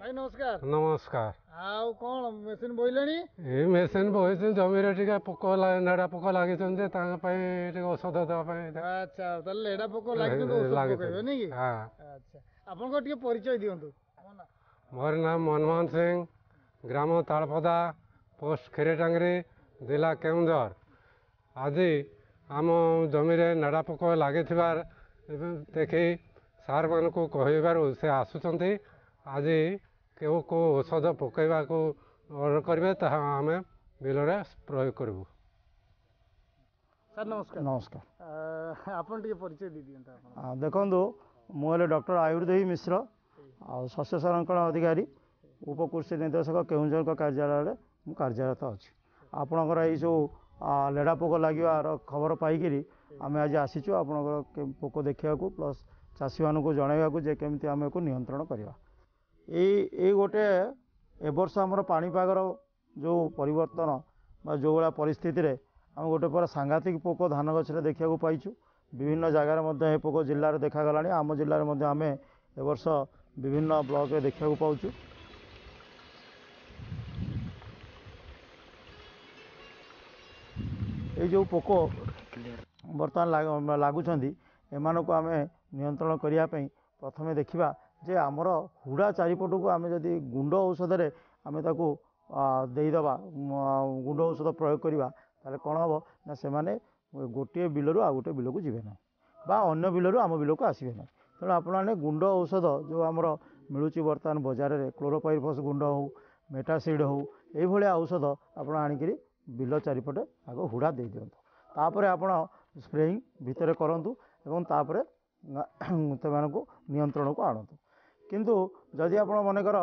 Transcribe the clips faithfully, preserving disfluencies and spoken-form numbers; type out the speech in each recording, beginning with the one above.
ଭାଇ ନମସ୍କାର ନମସ୍କାର ଆଉ କ'ଣ ମେସିନ୍ ବୋହିଲେଣି ଏଇ ମେସିନ୍ ବୋହିଛି ଜମିରେ ଟିକେ ପୋକ ଲେଢ଼ା ପୋକ ଲାଗିଛନ୍ତି ତାଙ୍କ ପାଇଁ ଟିକେ ଔଷଧ ଦେବା ପାଇଁ ଆଚ୍ଛା ତାହେଲେ ଲେଢ଼ା ପୋକ ଲାଗିଛନ୍ତି ଔଷଧ ପକେଇବେ ନାଇଁ କି ହଁ ଆଚ୍ଛା ଆପଣଙ୍କ ଟିକେ ପରିଚୟ ଦିଅନ୍ତୁ ମୋର ନାମ ମନମୋହନ ସିଂ ଗ୍ରାମ ତାଳପଦା ପୋଷ୍ଟ କ୍ଷୀରଟାଙ୍ଗରି ଜିଲ୍ଲା କେଉଁଝର ଆଜି ଆମ ଜମିରେ ନେଡ଼ା ପୋକ ଲାଗିଥିବା ଦେଖି ସାର୍ମାନଙ୍କୁ କହିବାରୁ ସେ ଆସୁଛନ୍ତି ଆଜି କେଉଁ କେଉଁ ଔଷଧ ପକାଇବାକୁ ଅର୍ଡ଼ର କରିବେ ତାହା ଆମେ ବିଲରେ ପ୍ରୟୋଗ କରିବୁ ସାର୍ ନମସ୍କାର ନମସ୍କାର ଆପଣ ଟିକେ ପରିଚୟ ଦେଇ ଦିଅନ୍ତୁ ଆପଣ ଦେଖନ୍ତୁ ମୁଁ ହେଲେ ଡକ୍ଟର ଆୟୁର୍ଦେହୀ ମିଶ୍ର ଆଉ ଶସ୍ୟ ସଂରକ୍ଷଣ ଅଧିକାରୀ ଉପକୃଷି ନିର୍ଦ୍ଦେଶକ କେଉଁଝରଙ୍କ କାର୍ଯ୍ୟାଳୟରେ ମୁଁ କାର୍ଯ୍ୟରତ ଅଛି ଆପଣଙ୍କର ଏଇ ସବୁ ଲେଢ଼ା ପୋକ ଲାଗିବାର ଖବର ପାଇକିରି ଆମେ ଆଜି ଆସିଛୁ ଆପଣଙ୍କର ପୋକ ଦେଖିବାକୁ ପ୍ଲସ୍ ଚାଷୀମାନଙ୍କୁ ଜଣାଇବାକୁ ଯେ କେମିତି ଆମେ ଏକୁ ନିୟନ୍ତ୍ରଣ କରିବା ଏଇ ଏଇ ଗୋଟେ ଏ ବର୍ଷ ଆମର ପାଣିପାଗର ଯେଉଁ ପରିବର୍ତ୍ତନ ବା ଯେଉଁ ଭଳିଆ ପରିସ୍ଥିତିରେ ଆମେ ଗୋଟେ ପୁରା ସାଂଘାତିକ ପୋକ ଧାନ ଗଛରେ ଦେଖିବାକୁ ପାଇଛୁ ବିଭିନ୍ନ ଜାଗାରେ ମଧ୍ୟ ଏ ପୋକ ଜିଲ୍ଲାରେ ଦେଖାଗଲାଣି ଆମ ଜିଲ୍ଲାରେ ମଧ୍ୟ ଆମେ ଏ ବର୍ଷ ବିଭିନ୍ନ ବ୍ଲକରେ ଦେଖିବାକୁ ପାଉଛୁ ଏଇ ଯେଉଁ ପୋକ ବର୍ତ୍ତମାନ ଲାଗୁଛନ୍ତି ଏମାନଙ୍କୁ ଆମେ ନିୟନ୍ତ୍ରଣ କରିବା ପାଇଁ ପ୍ରଥମେ ଦେଖିବା ଯେ ଆମର ହୁଡ଼ା ଚାରିପଟକୁ ଆମେ ଯଦି ଗୁଣ୍ଡ ଔଷଧରେ ଆମେ ତାକୁ ଦେଇଦେବା ଗୁଣ୍ଡ ଔଷଧ ପ୍ରୟୋଗ କରିବା ତାହେଲେ କ'ଣ ହେବ ନା ସେମାନେ ଗୋଟିଏ ବିଲରୁ ଆଉ ଗୋଟିଏ ବିଲକୁ ଯିବେ ନାହିଁ ବା ଅନ୍ୟ ବିଲରୁ ଆମ ବିଲକୁ ଆସିବେ ନାହିଁ ତେଣୁ ଆପଣମାନେ ଗୁଣ୍ଡ ଔଷଧ ଯେଉଁ ଆମର ମିଳୁଛି ବର୍ତ୍ତମାନ ବଜାରରେ କ୍ଲୋରୋପାଇରିଫସ୍ ଗୁଣ୍ଡ ହେଉ ମେଟାସିଡ଼୍ ହେଉ ଏଇଭଳିଆ ଔଷଧ ଆପଣ ଆଣିକିରି ବିଲ ଚାରିପଟେ ଆଗ ହୁଡ଼ା ଦେଇଦିଅନ୍ତୁ ତାପରେ ଆପଣ ସ୍ପ୍ରେଇଂ ଭିତରେ କରନ୍ତୁ ଏବଂ ତାପରେ ସେମାନଙ୍କୁ ନିୟନ୍ତ୍ରଣକୁ ଆଣନ୍ତୁ କିନ୍ତୁ ଯଦି ଆପଣ ମନେକର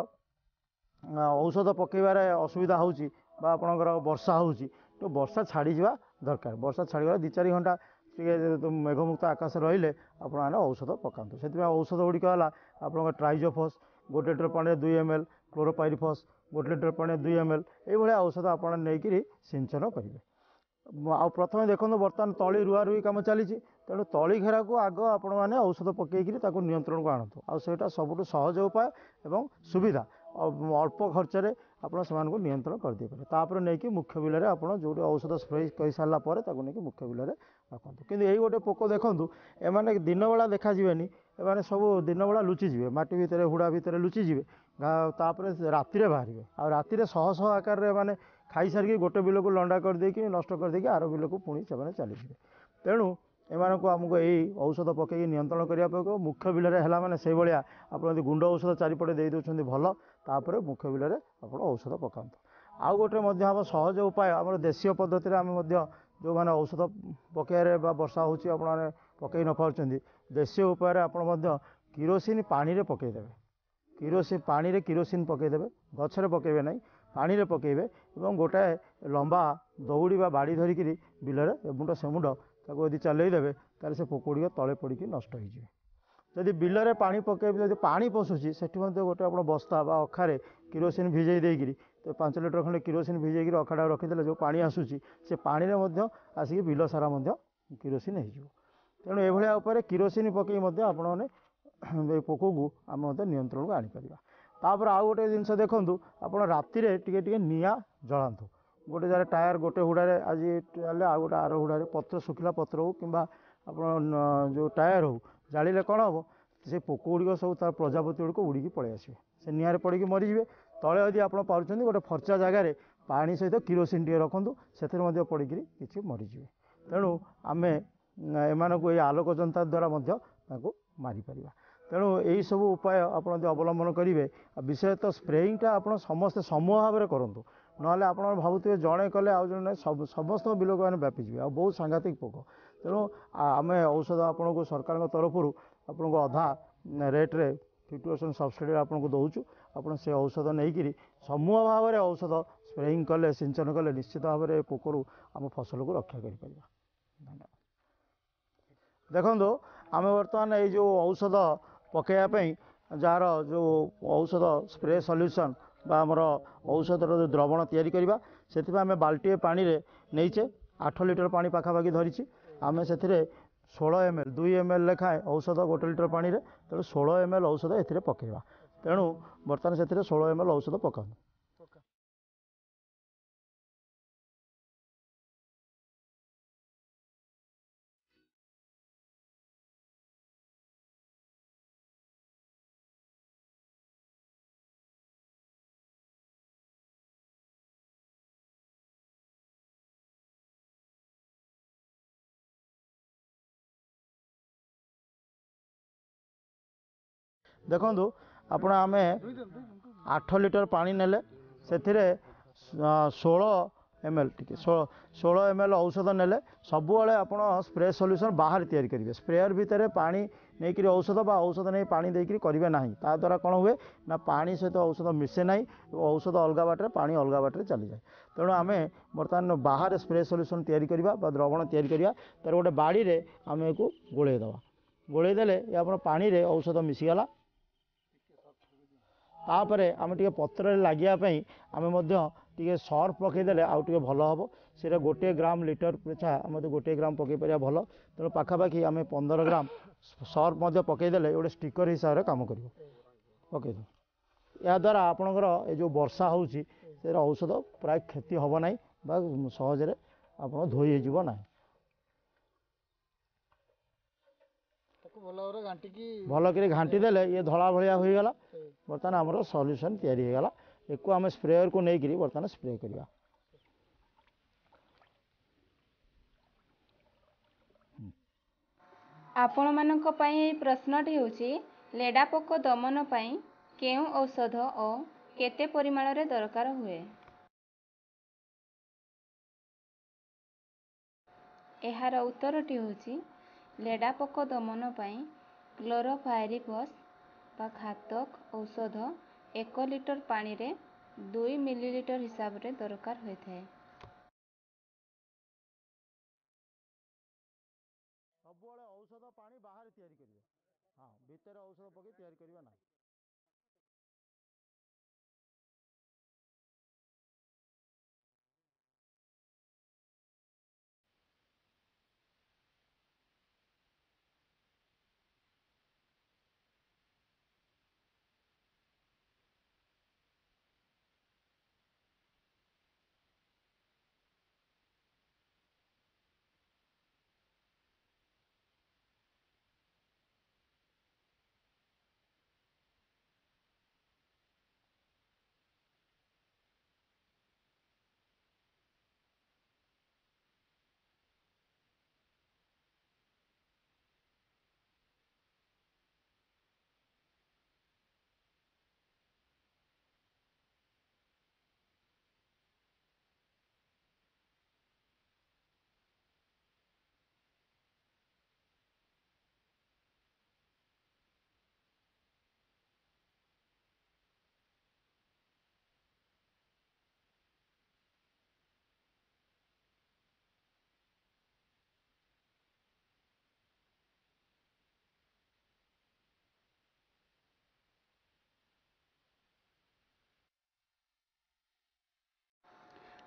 ଔଷଧ ପକାଇବାରେ ଅସୁବିଧା ହେଉଛି ବା ଆପଣଙ୍କର ବର୍ଷା ହେଉଛି ତ ବର୍ଷା ଛାଡ଼ିଯିବା ଦରକାର ବର୍ଷା ଛାଡ଼ିଗଲା ଦୁଇ ଚାରି ଘଣ୍ଟା ଟିକେ ମେଘମୁକ୍ତ ଆକାଶ ରହିଲେ ଆପଣମାନେ ଔଷଧ ପକାନ୍ତୁ ସେଥିପାଇଁ ଔଷଧ ଗୁଡ଼ିକ ହେଲା ଆପଣଙ୍କ ଟ୍ରାଇଜୋଫସ୍ ଗୋଟେ ଲିଟର ପାଣିରେ ଦୁଇ ଏମ୍ ଏଲ୍ କ୍ଲୋରୋପାଇରିଫସ୍ ଗୋଟେ ଲିଟର ପାଣିରେ ଦୁଇ ଏମ୍ ଏଲ୍ ଏଇଭଳିଆ ଔଷଧ ଆପଣ ନେଇକରି ସିଞ୍ଚନ କରିବେ ଆଉ ପ୍ରଥମେ ଦେଖନ୍ତୁ ବର୍ତ୍ତମାନ ତଳି ରୁଆ ରୁଇ କାମ ଚାଲିଛି ତେଣୁ ତଳି ଘେରାକୁ ଆଗ ଆପଣମାନେ ଔଷଧ ପକାଇକିରି ତାକୁ ନିୟନ୍ତ୍ରଣକୁ ଆଣନ୍ତୁ ଆଉ ସେଇଟା ସବୁଠୁ ସହଜ ଉପାୟ ଏବଂ ସୁବିଧା ଅଳ୍ପ ଖର୍ଚ୍ଚରେ ଆପଣ ସେମାନଙ୍କୁ ନିୟନ୍ତ୍ରଣ କରିଦେଇପାରିବେ ତାପରେ ନେଇକି ମୁଖ୍ୟ ବିଲରେ ଆପଣ ଯେଉଁଠି ଔଷଧ ସ୍ପ୍ରେ କରିସାରିଲା ପରେ ତାକୁ ନେଇକି ମୁଖ୍ୟ ବିଲରେ ରଖନ୍ତୁ କିନ୍ତୁ ଏଇ ଗୋଟେ ପୋକ ଦେଖନ୍ତୁ ଏମାନେ ଦିନବେଳା ଦେଖାଯିବେନି ଏମାନେ ସବୁ ଦିନବେଳା ଲୁଚିଯିବେ ମାଟି ଭିତରେ ହୁଡ଼ା ଭିତରେ ଲୁଚିଯିବେ ତାପରେ ରାତିରେ ବାହାରିବେ ଆଉ ରାତିରେ ଶହ ଶହ ଆକାରରେ ଏମାନେ ଖାଇସାରିକି ଗୋଟେ ବିଲକୁ ଲଣ୍ଡା କରିଦେଇକି ନଷ୍ଟ କରିଦେଇକି ଆର ବିଲକୁ ପୁଣି ସେମାନେ ଚାଲିଯିବେ ତେଣୁ ଏମାନଙ୍କୁ ଆମକୁ ଏଇ ଔଷଧ ପକାଇକି ନିୟନ୍ତ୍ରଣ କରିବା ପାଇଁ ମୁଖ୍ୟ ବିଲରେ ହେଲା ମାନେ ସେଇଭଳିଆ ଆପଣ ଯଦି ଗୁଣ୍ଡ ଔଷଧ ଚାରିପଟେ ଦେଇ ଦେଉଛନ୍ତି ଭଲ ତାପରେ ମୁଖ୍ୟ ବିଲରେ ଆପଣ ଔଷଧ ପକାନ୍ତୁ ଆଉ ଗୋଟେ ମଧ୍ୟ ଆମ ସହଜ ଉପାୟ ଆମର ଦେଶୀୟ ପଦ୍ଧତିରେ ଆମେ ମଧ୍ୟ ଯେଉଁମାନେ ଔଷଧ ପକାଇବାରେ ବା ବର୍ଷା ହେଉଛି ଆପଣମାନେ ପକାଇ ନପାରୁଛନ୍ତି ଦେଶୀୟ ଉପାୟରେ ଆପଣ ମଧ୍ୟ କିରୋସିନ ପାଣିରେ ପକାଇଦେବେ କିରୋସିନ ପାଣିରେ କିରୋସିନ ପକାଇଦେବେ ଗଛରେ ପକାଇବେ ନାହିଁ ପାଣିରେ ପକାଇବେ ଏବଂ ଗୋଟାଏ ଲମ୍ବା ଦଉଡ଼ି ବା ବାଡ଼ି ଧରିକିରି ବିଲରେ ଏମୁଣ୍ଡ ସେମୁଣ୍ଡ ତାକୁ ଯଦି ଚଲେଇ ଦେବେ ତାହେଲେ ସେ ପୋକ ଗୁଡ଼ିକ ତଳେ ପଡ଼ିକି ନଷ୍ଟ ହେଇଯିବେ ଯଦି ବିଲରେ ପାଣି ପକାଇବେ ଯଦି ପାଣି ପଶୁଛି ସେଠି ମଧ୍ୟ ଗୋଟେ ଆପଣ ବସ୍ତା ବା ଅଖାରେ କିରୋସିନ ଭିଜେଇ ଦେଇକିରି ତ ପାଞ୍ଚ ଲିଟର ଖଣ୍ଡେ କିରୋସିନ ଭିଜେଇକିରି ଅଖାଟା ରଖିଦେଲେ ଯେଉଁ ପାଣି ଆସୁଛି ସେ ପାଣିରେ ମଧ୍ୟ ଆସିକି ବିଲ ସାରା ମଧ୍ୟ କିରୋସିନ ହେଇଯିବ ତେଣୁ ଏଭଳିଆ ଉପରେ କିରୋସିନ ପକାଇ ମଧ୍ୟ ଆପଣମାନେ ଏ ପୋକକୁ ଆମେ ମଧ୍ୟ ନିୟନ୍ତ୍ରଣକୁ ଆଣିପାରିବା ତାପରେ ଆଉ ଗୋଟେ ଜିନିଷ ଦେଖନ୍ତୁ ଆପଣ ରାତିରେ ଟିକେ ଟିକେ ନିଆଁ ଜଳାନ୍ତୁ ଗୋଟେ ଜାଗାରେ ଟାୟାର ଗୋଟେ ହୁଡ଼ାରେ ଆଜି ଜାଳିଲେ ଆଉ ଗୋଟେ ଆର ହୁଡ଼ାରେ ପତ୍ର ଶୁଖିଲା ପତ୍ର ହେଉ କିମ୍ବା ଆପଣ ଯେଉଁ ଟାୟାର ହେଉ ଜାଳିଲେ କ'ଣ ହେବ ସେ ପୋକ ଗୁଡ଼ିକ ସବୁ ତାର ପ୍ରଜାପତି ଗୁଡ଼ିକ ଉଡ଼ିକି ପଳେଇ ଆସିବେ ସେ ନିଆଁରେ ପଡ଼ିକି ମରିଯିବେ ତଳେ ଯଦି ଆପଣ ପାରୁଛନ୍ତି ଗୋଟେ ଫର୍ଚା ଜାଗାରେ ପାଣି ସହିତ କିରୋସିନ ଟିକେ ରଖନ୍ତୁ ସେଥିରେ ମଧ୍ୟ ପଡ଼ିକିରି କିଛି ମରିଯିବେ ତେଣୁ ଆମେ ଏମାନଙ୍କୁ ଏଇ ଆଲୋକ ଯନ୍ତ୍ର ଦ୍ୱାରା ମଧ୍ୟ ତାଙ୍କୁ ମାରିପାରିବା ତେଣୁ ଏଇସବୁ ଉପାୟ ଆପଣ ଯଦି ଅବଲମ୍ବନ କରିବେ ଆଉ ବିଶେଷତଃ ସ୍ପ୍ରେଇଂଟା ଆପଣ ସମସ୍ତେ ସମୂହ ଭାବରେ କରନ୍ତୁ ନହେଲେ ଆପଣ ଭାବୁଥିବେ ଜଣେ କଲେ ଆଉ ଜଣେ ସବୁ ସମସ୍ତଙ୍କ ବିଲକୁ ମାନେ ବ୍ୟାପିଯିବେ ଆଉ ବହୁତ ସାଂଘାତିକ ପୋକ ତେଣୁ ଆମେ ଔଷଧ ଆପଣଙ୍କୁ ସରକାରଙ୍କ ତରଫରୁ ଆପଣଙ୍କୁ ଅଧା ରେଟ୍ରେ ଫିଫ୍ଟି ପରସେଣ୍ଟ ସବସିଡ଼ିରେ ଆପଣଙ୍କୁ ଦେଉଛୁ ଆପଣ ସେ ଔଷଧ ନେଇକିରି ସମୂହ ଭାବରେ ଔଷଧ ସ୍ପ୍ରେଇଂ କଲେ ସିଞ୍ଚନ କଲେ ନିଶ୍ଚିତ ଭାବରେ ଏ ପୋକରୁ ଆମ ଫସଲକୁ ରକ୍ଷା କରିପାରିବା ଧନ୍ୟବାଦ ଦେଖନ୍ତୁ ଆମେ ବର୍ତ୍ତମାନ ଏଇ ଯେଉଁ ଔଷଧ ପକାଇବା ପାଇଁ ଯାହାର ଯେଉଁ ଔଷଧ ସ୍ପ୍ରେ ସଲ୍ୟୁସନ୍ ବା ଆମର ଔଷଧର ଯେଉଁ ଦ୍ରବଣ ତିଆରି କରିବା ସେଥିପାଇଁ ଆମେ ବାଲ୍ଟିଏ ପାଣିରେ ନେଇଛେ ଆଠ ଲିଟର ପାଣି ପାଖାପାଖି ଧରିଛି ଆମେ ସେଥିରେ ଷୋହଳ ଏମ୍ ଏଲ୍ ଦୁଇ ଏମ୍ ଏଲ୍ ଲେଖାଏଁ ଔଷଧ ଗୋଟେ ଲିଟର ପାଣିରେ ତେଣୁ ଷୋହଳ ଏମ୍ ଏଲ୍ ଔଷଧ ଏଥିରେ ପକାଇବା ତେଣୁ ବର୍ତ୍ତମାନ ସେଥିରେ ଷୋହଳ ଏମ୍ ଏଲ୍ ଔଷଧ ପକାନ୍ତୁ। ଦେଖନ୍ତୁ ଆପଣ, ଆମେ ଆଠ ଲିଟର ପାଣି ନେଲେ ସେଥିରେ ଷୋହଳ ଏମ୍ ଏଲ୍, ଟିକେ ଷୋହଳ ଏମ୍ ଏଲ୍ ଔଷଧ ନେଲେ। ସବୁବେଳେ ଆପଣ ସ୍ପ୍ରେ ସଲ୍ୟୁସନ୍ ବାହାରେ ତିଆରି କରିବେ। ସ୍ପ୍ରେୟର ଭିତରେ ପାଣି ନେଇକରି ଔଷଧ ବା ଔଷଧ ନେଇ ପାଣି ଦେଇକରି କରିବେ ନାହିଁ। ତା ଦ୍ୱାରା କ'ଣ ହୁଏ ନା, ପାଣି ସହିତ ଔଷଧ ମିଶେ ନାହିଁ, ଔଷଧ ଅଲଗା ବାଟରେ, ପାଣି ଅଲଗା ବାଟରେ ଚାଲିଯାଏ। ତେଣୁ ଆମେ ବର୍ତ୍ତମାନ ବାହାରେ ସ୍ପ୍ରେ ସଲ୍ୟୁସନ୍ ତିଆରି କରିବା ବା ଦ୍ରବଣ ତିଆରି କରିବା। ତାର ଗୋଟେ ବାଡ଼ିରେ ଆମେ ଏକୁ ଗୋଳେଇ ଦେବା। ଗୋଳେଇ ଦେଲେ ଏ ଆପଣ ପାଣିରେ ଔଷଧ ମିଶିଗଲା। ତାପରେ ଆମେ ଟିକେ ପତ୍ରରେ ଲାଗିବା ପାଇଁ ଆମେ ମଧ୍ୟ ଟିକେ ସର୍ଫ ପକାଇଦେଲେ ଆଉ ଟିକେ ଭଲ ହେବ। ସେଇଟା ଗୋଟିଏ ଗ୍ରାମ ଲିଟର ପିଛା ଆମେ ଯଦି ଗୋଟିଏ ଗ୍ରାମ ପକାଇ ପାରିବା ଭଲ। ତେଣୁ ପାଖାପାଖି ଆମେ ପନ୍ଦର ଗ୍ରାମ ସର୍ଫ ମଧ୍ୟ ପକାଇଦେଲେ ଗୋଟେ ଷ୍ଟିକର ହିସାବରେ କାମ କରିବ। ପକାଇଦେବୁ। ଏହାଦ୍ୱାରା ଆପଣଙ୍କର ଏ ଯେଉଁ ବର୍ଷା ହେଉଛି, ସେର ଔଷଧ ପ୍ରାୟ କ୍ଷତି ହେବ ନାହିଁ ବା ସହଜରେ ଆପଣ ଧୋଇ ହେଇଯିବ ନାହିଁ। ଭଲ କରି ଘାଣ୍ଟି ଦେଲେ ଇଏ ଧଳା ଭଳିଆ ହୋଇଗଲା। ବର୍ତ୍ତମାନ ଆମର ସଲ୍ୟୁସନ୍ ତିଆରି ହୋଇଗଲା। ଏକୁ ଆମେ ସ୍ପ୍ରେୟରକୁ ନେଇକରି ବର୍ତ୍ତମାନ ସ୍ପ୍ରେ କରିବା। ଆପଣମାନଙ୍କ ପାଇଁ ଏହି ପ୍ରଶ୍ନଟି ହେଉଛି, ଲେଡ଼ା ପୋକ ଦମନ ପାଇଁ କେଉଁ ଔଷଧ ଓ କେତେ ପରିମାଣରେ ଦରକାର ହୁଏ? ଏହାର ଉତ୍ତରଟି ହେଉଛି, ଲେଡ଼ା ପୋକ ଦମନ ପାଇଁ କ୍ଲୋରୋଫାଇରିଫସ୍ ବା ଘାତକ ଔଷଧ ଏକ ଲିଟର ପାଣିରେ ଦୁଇ ମିଲିଲିଟର ହିସାବରେ ଦରକାର ହୋଇଥାଏ। ସବୁବେଳେ ଔଷଧ ପାଣି ବାହାରେ ତିଆରି କରିବେ, ହଁ, ଭିତରେ ଔଷଧ ପକାଇ ତିଆରି କରିବେ ନାହିଁ।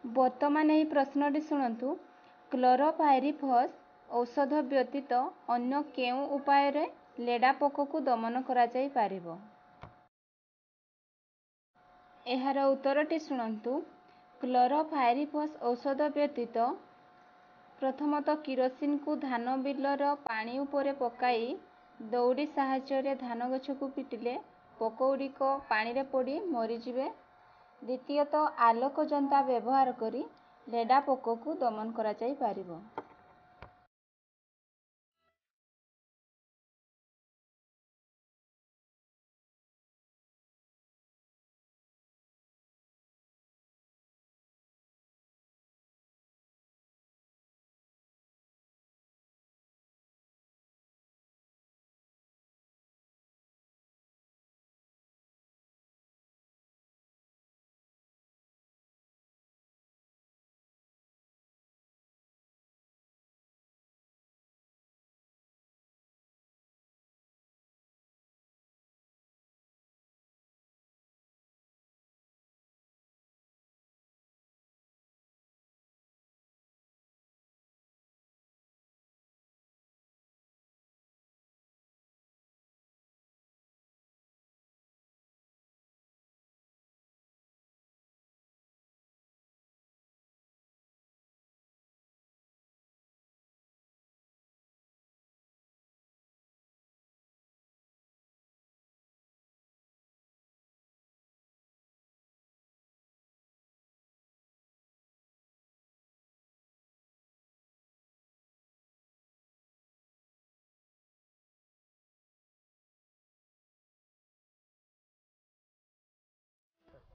ବର୍ତ୍ତମାନ ଏହି ପ୍ରଶ୍ନଟି ଶୁଣନ୍ତୁ, କ୍ଲୋରୋଫାଇରିଫସ୍ ଔଷଧ ବ୍ୟତୀତ ଅନ୍ୟ କେଉଁ ଉପାୟରେ ଲେଡ଼ା ପୋକକୁ ଦମନ କରାଯାଇପାରିବ? ଏହାର ଉତ୍ତରଟି ଶୁଣନ୍ତୁ। କ୍ଲୋରୋଫାଇରିଫସ୍ ଔଷଧ ବ୍ୟତୀତ ପ୍ରଥମତଃ କିରୋସିନକୁ ଧାନ ବିଲର ପାଣି ଉପରେ ପକାଇ ଦଉଡ଼ି ସାହାଯ୍ୟରେ ଧାନ ଗଛକୁ ପିଟିଲେ ପୋକଗୁଡ଼ିକ ପାଣିରେ ପଡ଼ି ମରିଯିବେ। ଦ୍ୱିତୀୟତଃ ଆଲୋକ ଯନ୍ତା ବ୍ୟବହାର କରି ଲେଡ଼ା ପୋକକୁ ଦମନ କରାଯାଇପାରିବ।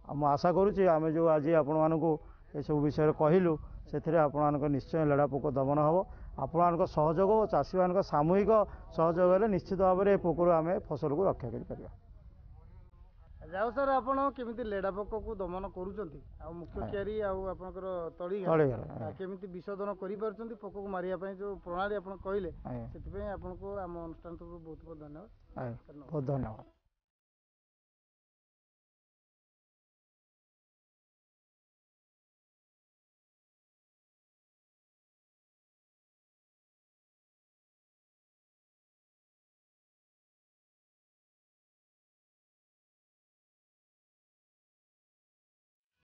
ଆଉ ମୁଁ ଆଶା କରୁଛି ଆମେ ଯେଉଁ ଆଜି ଆପଣମାନଙ୍କୁ ଏସବୁ ବିଷୟରେ କହିଲୁ, ସେଥିରେ ଆପଣମାନଙ୍କ ନିଶ୍ଚୟ ଲେଡ଼ା ପୋକ ଦମନ ହେବ। ଆପଣମାନଙ୍କ ସହଯୋଗ ଓ ଚାଷୀମାନଙ୍କ ସାମୂହିକ ସହଯୋଗ ହେଲେ ନିଶ୍ଚିତ ଭାବରେ ଏ ପୋକରୁ ଆମେ ଫସଲକୁ ରକ୍ଷା କରିପାରିବା। ଯାଉ ସାର୍, ଆପଣ କେମିତି ଲେଡ଼ା ପୋକକୁ ଦମନ କରୁଛନ୍ତି ଆଉ ମୁଖ୍ୟ କିଆରି ଆଉ ଆପଣଙ୍କର ତଳି ତଳି କେମିତି ବିଶୋଧନ କରିପାରୁଛନ୍ତି, ପୋକକୁ ମାରିବା ପାଇଁ ଯେଉଁ ପ୍ରଣାଳୀ ଆପଣ କହିଲେ, ସେଥିପାଇଁ ଆପଣଙ୍କୁ ଆମ ଅନୁଷ୍ଠାନ ତରଫରୁ ବହୁତ ବହୁତ ଧନ୍ୟବାଦ। ବହୁତ ଧନ୍ୟବାଦ।